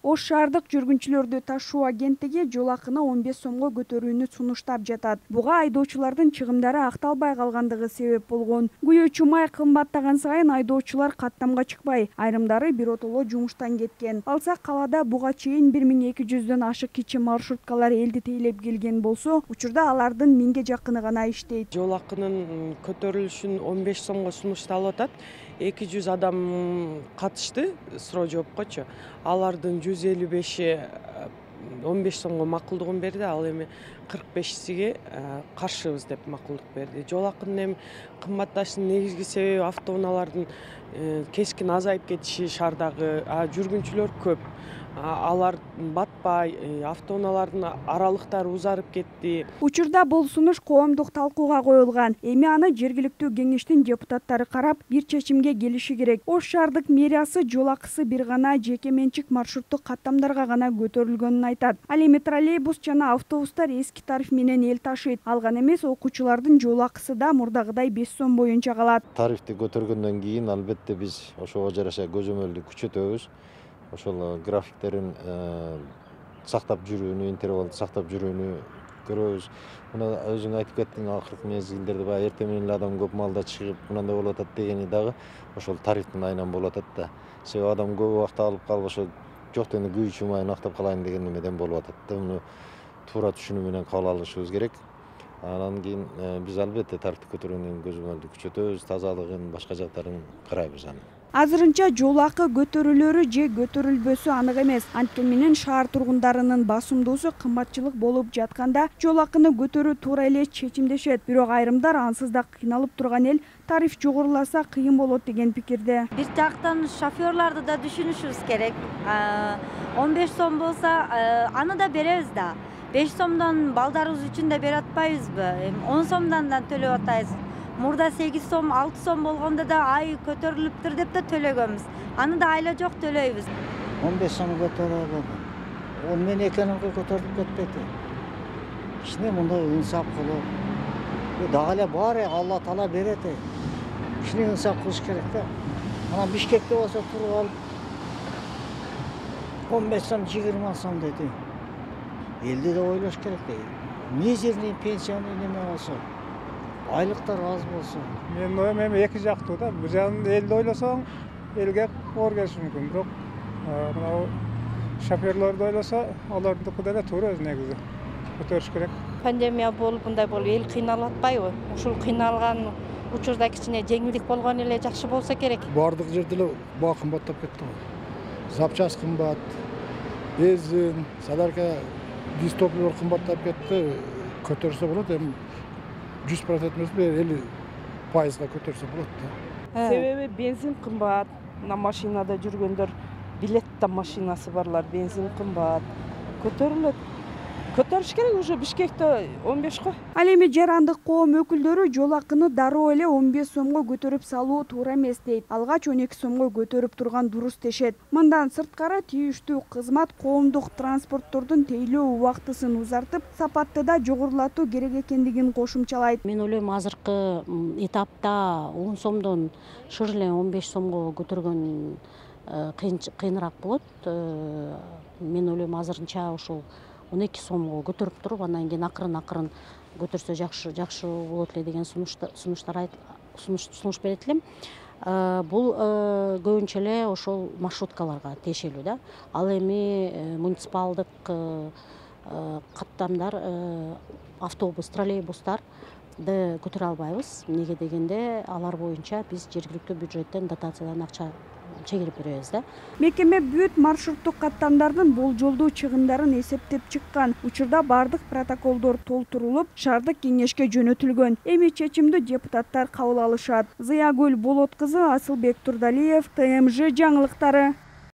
Ош шаардык жүргүнчүлөрдү ташуу агенттиги жол акыны 15 сомго көтөрүүнү сунуштап жатат. Буга айдоочулардын чыгымдары акталбай калгандыгы себеп болгон. Күйөөчү май кымбаттаган сайын айдоочулар каттамга чыкпай, айрымдары биротоло жумуштан кеткен. Алсак калаада буга чейин 1200дөн ашык кичи маршруткалар элди тейлеп келген болсо, учурда алардын 1000ге жакыны гана иштейт. Жол акынын көтөрүлүшүн 15 сомго сунушталып атат. 200 адам катышты суроо жоопкочу. Алардын 155 15 сомго макулдугун берди, ал эми 45сиге каршыбыз деп макулдук берди. Жол акынын эми кымбатташынын негизги себеби автоунаалардын кескин азайып кетиши шаардагы, жүргүнчүлөр көп. Алар батпай, автоунаалардын аралыктары узарып кетти. Учурда бул сунуш коомдук талкууга коюлган. Эми аны жергиликтүү кеңештин депутаттары карап, бир чечимге келиши керек. Ош шаардык мэриясы жол акысы бир гана жеке менчик маршруттук каттамдарга гана көтөрүлгөнүн айтат. Ал эми троллейбус жана автобустар эски тариф менен эл ташыйт. Алган эмес, окуучулардын жол акысы да мурдагыдай 5 сом боюнча калат. Тарифти көтөргөндөн кийин албетте биз ошого жараша көзөмөлдү күчөтөбүз. Ошол графиктерин сактап жүрүүнү, интервалды сактап жүрүүнү көрөбүз. Мына өзүң айтып кеттиң, акыркы мезгилдерде баягы эртең менен эле адам көп маалда чыгып, мындай болуп атат дегени дагы ошол тарифтин айынан болуп атат да. Себеби адам көп убакыт алып калып, ошо жок дегенде күйүүчү майын актап калайын деген немеден болуп атат да. Муну туура түшүнүү менен кабыл алышыбыз керек. Анан кийин биз албетте тарифти көтөргөндөн кийин көзөмөлдү күчөтөбүз, тазалыгын, башка жактарын карайбыз аны. Азырынча жол акы көтөрүлөрү же көтөрүлбөсү анык эмес. Анткени менен шаар тургундарынын басымдуусу кымбатчылык болуп жатканда жол акыны көтөрүү туура эле чечимдешет. Бирок айрымдар ансыз да кыйналып турган эл тариф жогоруласа кыйын болот деген пикирде. Бир жактан шофёрлорду да түшүнүшүбүз керек. 15 сом болсо аны да беребиз да. 5 сомдон балдарыбыз үчүн да бере атпайбызбы? 10 сомдон да төлөп атабыз. Мурда 8 сом, 6 сом болгондо да ай көтөрүлүптүр деп да төлөгөнбүз. Аны да айла жок төлөйбүз. 15 сом көтөрөлөт. Ол мен экономика көтөрүлүп кетпейт. Кичине мындай инсап кылып, дагы эле баары Алла Таала берет. Кичине инсап кылыш керек да. Анан Бишкекте болсо туруп алып 15 сом, 20 сом деди. Элди да ойлош керек да. Мизерный пенсияны неме болсо, айлыктар аз болсо. Менин оюм эми эки жактуу да. Бул жагын элди ойлосоң, элге оор келиши мүмкүн. Бирок мына шофёрлорду ойлосо, алардыкы деле туура өз негизи. Көтөрүш керек. Пандемия болуп, мындай болуп, эл кыйналып атпайбы? Ушул кыйналган учурда кичине жеңилдик болгон эле жакшы болсо керек. Бардык жерде эле баа кымбаттап кетти го. Запчасть кымбат, бензин, солярка, дистопливер кымбаттап кетти. Көтөрсө болот, эми 100% эмес, 50% көтөрсө болот да. Себеби бензин кымбат, мына машинада жүргөндөр, билетта машинасы барлар, бензин кымбат. Көтөрүлөт. Көтөрүш керек уже Бишкекте 15 го. Ал эми жарандык коом өкүлдөрү жол акыны дароо эле 15 сомго көтөрүп салуу туура эмес дейт. Алгач 12 сомго көтөрүп турган дурус дешет. Мындан сырткары тийиштүү кызмат коомдук транспорттордун тейлөө убактысын узартып, сапатты да жогорулатуу керек экендигин кошумчалайт. Мен ойлойм, азыркы этапта 10 сомдон шыр эле 15 сомго көтөргөн кыйыныраак болот. Мен ойлойм, азырынча ушул 12 сомго көтөрүп туруп, андан кийин акырын көтөрсө жакшы болот эле деген сунуш берет элем. Бул көбүнчө эле ошол маршруткаларга тиешелүү да. Ал эми муниципалдык каттамдар, автобус, троллейбустарды көтөрө албайбыз. Эмнеге дегенде, алар боюнча биз жергиликтүү бюджеттен дотациядан акча чегирип беребиз да. Мекеме бүт маршруттук каттамдардын болжолдуу чыгымдарын эсептеп чыккан. Учурда бардык протоколдор толтурулуп, шаардык кеңешке жөнөтүлгөн. Эми чечимди депутаттар кабыл алышат. Зыягүл Болот кызы, Асылбек Турдалиев, ТМЖ жаңылыктары.